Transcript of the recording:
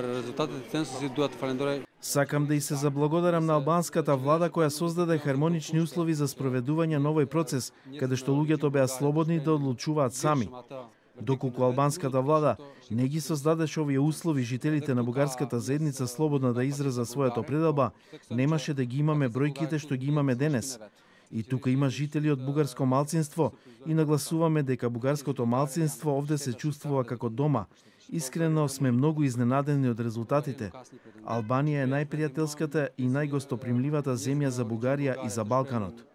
резултатите цензуси дуат фалендора. Сакам да и се заблагодарам на албанската влада која создаде хармонични услови за спроведување на овој процес, каде што луѓето беа слободни да одлучуваат сами. Доколку албанската влада не ги создадеше овие услови жителите на бугарската заедница слободно да изразат својата пределба, немаше да ги имаме бројките што ги имаме денес. И тука има жители од бугарско малцинство и нагласуваме дека бугарското малцинство овде се чувствува како дома. Искрено сме многу изненадени од резултатите. Албанија е најпријателската и најгостопримливата земја за Бугарија и за Балканот.